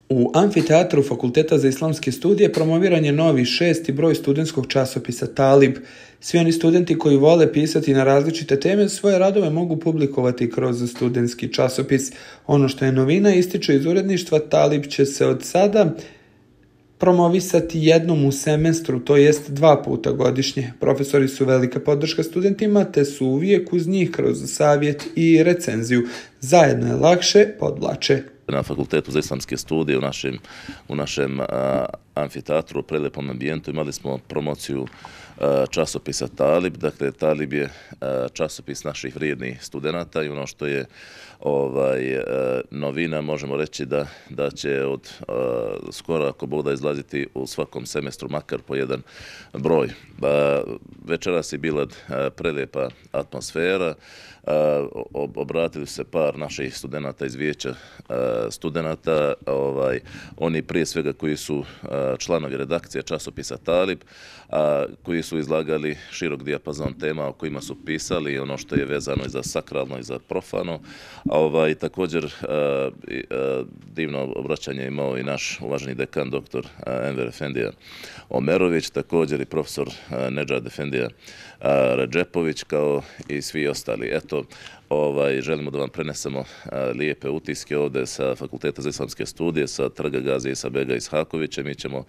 U amfiteatru Fakulteta za islamske studije promoviran je novi 6. broj studentskog časopisa Talib. Svi oni studenti koji vole pisati na različite teme svoje radove mogu publikovati kroz studentski časopis. Ono što je novina, ističe iz uredništva, Talib će se od sada promovisati jednom u semestru, to jest 2 puta godišnje. Profesori su velika podrška studentima, te su uvijek uz njih kroz savjet i recenziju. Zajedno je lakše, podvlače. Na Fakultetu za islamske studije u našem amfiteatru u prelijepom ambijentu imali smo promociju časopisa Talib. Dakle, Talib je časopis naših vrijednih studenata i ono što je novina, možemo reći da će od skoro, ako Bog da, izlaziti u svakom semestru makar po jedan broj. Večeras je bila prelijepa atmosfera. Obratili se par naših studenata iz vijeća studenata, oni prije svega koji su članovi redakcije časopisa Talib, koji su izlagali širok dijapazon tema o kojima su pisali, ono što je vezano i za sakralno i za profano. Također divno obraćanje imao i naš uvaženi dekan dr. Enver Efendija Omerović, također i profesor Nedžad Efendija Redžepović, kao i svi ostali. Eto, želimo da vam prenesemo lijepe utiske ovdje sa Fakulteta za islamske studije, sa Trga Gazi Isa-bega Ishakovića. Mi ćemo,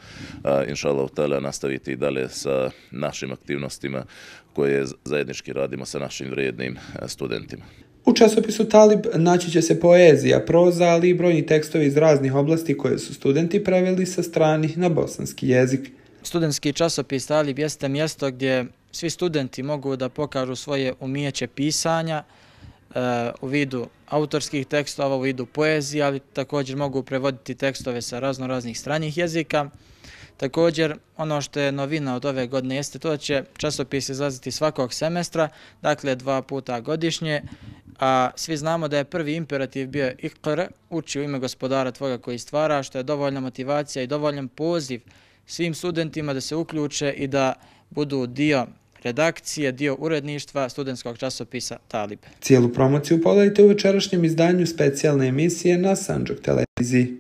inšallah ta'ala, nastaviti i dalje sa našim aktivnostima koje zajednički radimo sa našim vrijednim studentima. U časopisu Talib naći će se poezija, proza, ali i brojni tekstovi iz raznih oblasti koje su studenti preveli sa stranih na bosanski jezik. Studentski časopis Talib jeste mjesto gdje svi studenti mogu da pokažu svoje umijeće pisanja u vidu autorskih tekstova, u vidu poezije, ali također mogu prevoditi tekstove sa raznih stranih jezika. Također, ono što je novina od ove godine jeste to da će časopis izlaziti svakog semestra, dakle 2 puta godišnje, a svi znamo da je prvi imperativ bio Iqra, uči u ime gospodara tvoga koji stvara, što je dovoljna motivacija i dovoljan poziv svim studentima da se uključe i da budu dio redakcije, dio uredništva studentskog časopisa Talib. Cijelu promociju pogledajte u večerašnjem izdanju specijalne emisije na Sandžak televiziji.